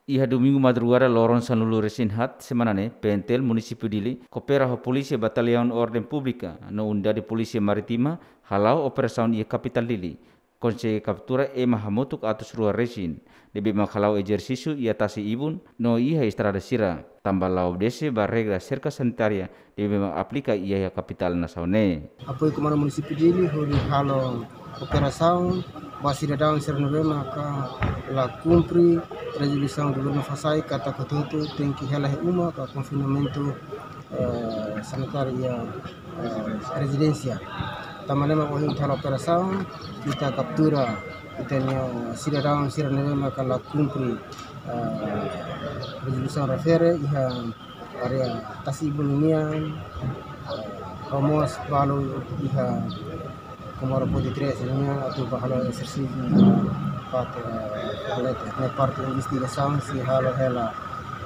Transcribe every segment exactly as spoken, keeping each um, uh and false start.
Iha Domingu madrugada loron sanulu-resin-haat semana ne'e, P N T L Munisípiu Dili koopera ho Polísia Bataliaun Orden Públika no Unidade Polísia Marítima hala'o operasaun iha kapitál Dili. Konsege kaptura ema hamutuk atus rua resin, ne'ebé mak hala'o ezersísiu iha tasi ibun no iha estrada sira, tanba la obedese ba regra serka sanitária ne'ebé mak aplika iha kapitál nasaun ne'e. Apoiu Komandu Munisípiu Dili hodi halo operasaun ba sidadaun sira ne'ebé maka la kumpre rezolusaun governu fó sai katak hotu-hotu tenke hela iha uma ka konfinamentu, eh, sanitáriu iha, eh, rezidénsia. Tanba ne'e mak ohin ita halo operasaun, ita kaptura ita-nia sidadaun sira ne'ebé maka la kumpre, eh, rezolusaun refere iha área tasi ibun nian, eh, ho mós balu iha Comoro Ponte Três nian atu ba halo ezersísiu iha parte, eh, Valete. Ne'e parte investigasaun sei halo hela,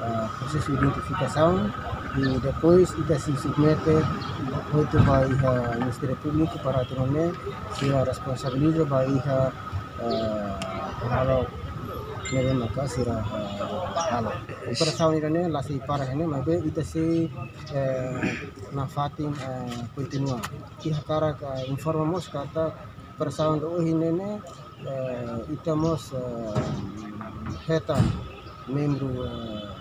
eh, prosesu identifikasaun, i depois ita sei submete hotu ba iha Ministériu Públiku para atu nune'e sira responsabiliza ba iha, eh, halo ne'ebé maka sira, eh, halo. Operasaun ida-ne'e la sei para iha ne'e, maibé ita sei, eh, nafatin, eh, kontinua. Ita hakarak, eh, informa mós katak operasaun ida ohin ne'e ne'e, eh, ita mós, eh, hetan membru, eh,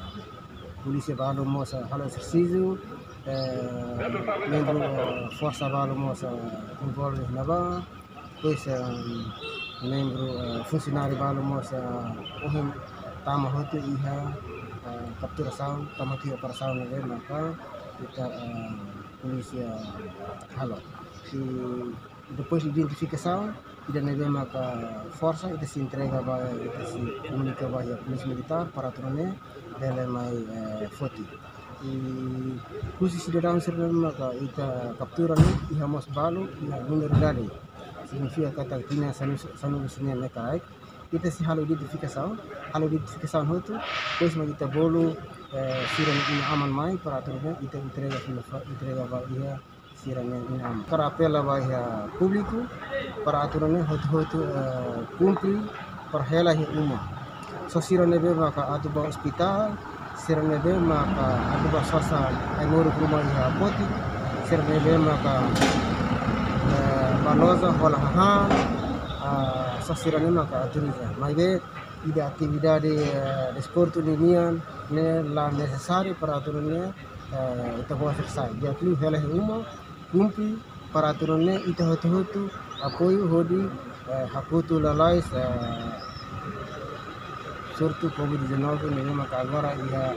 polísia balu mós, eh, halo ezersísiu, eh, membru, eh, forsa balu mós, eh, envolve iha ne'ebá, depois, eh, membru, eh, funsionáriu balu mós, eh, ohin tama hotu iha, eh, kapturasaun, tama hotu iha operasaun ne'ebé maka ita, eh, polísia halo. I depois identifikasaun, ida ne'ebé maka forsa, ita sei entrega ba, ita sei komunika ba iha Polísia Militár para atu nune'e bele mai, eh, foti. I husi sidadaun sira ne'ebé maka ita kaptura ne'e, iha mós balu iha minoridade. Signifika katak tinan sanu, sanulu-resin-neen ne'e karik. Ita sei halo identifikasaun, halo identifikasaun hotu, depois mak ita bolu, eh, sira-nia inan-aman mai para atu nune'e ita entrega fila fa-, entrega ba iha sira-nia inan-aman. Hakarak apela ba iha públiku para atu nune'e hotu-hotu, eh, kumpre para hela iha uma. Só sira ne'ebé maka atu ba ospitál, sira ne'ebé maka atu ba sosa ai-moruk ruma iha Poti, sira ne'ebé maka, eh, ba loja hola hahán, ah, só sira ne'e maka autoriza. Maibé ida atividade, eh, desportu ninian ne'e la nesesáriu para atu nune'e, eh, ita ba ospitál. Di'ak liu hela iha uma, kumpre para atu nune'e ita hotu-hotu apoiu hodi, eh, hakotu lalais, eh, surtu covid dezanove ne'ebé maka agora iha,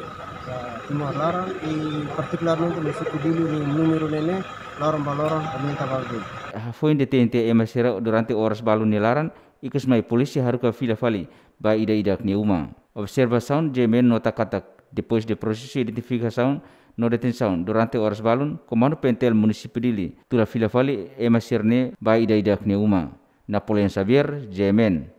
eh, Timor laran, i partikularmente munisípiu Dili nia númeru ne'e ne'e loron ba loron aumenta ba de'it. Hafoin de T N T ema sira durante oras balun nia laran, ikus mai polísia haruka fila fali ba ida-idak nia uma. Observasaun J M N nota katak, depois de prosesu identifikasaun no detensaun durante oras balun, Komandu P N T L Munisípiu Dili tuda fila fali ema sira-ne'e ba ida-idak nia uma. Napoleão Xavier, J M N.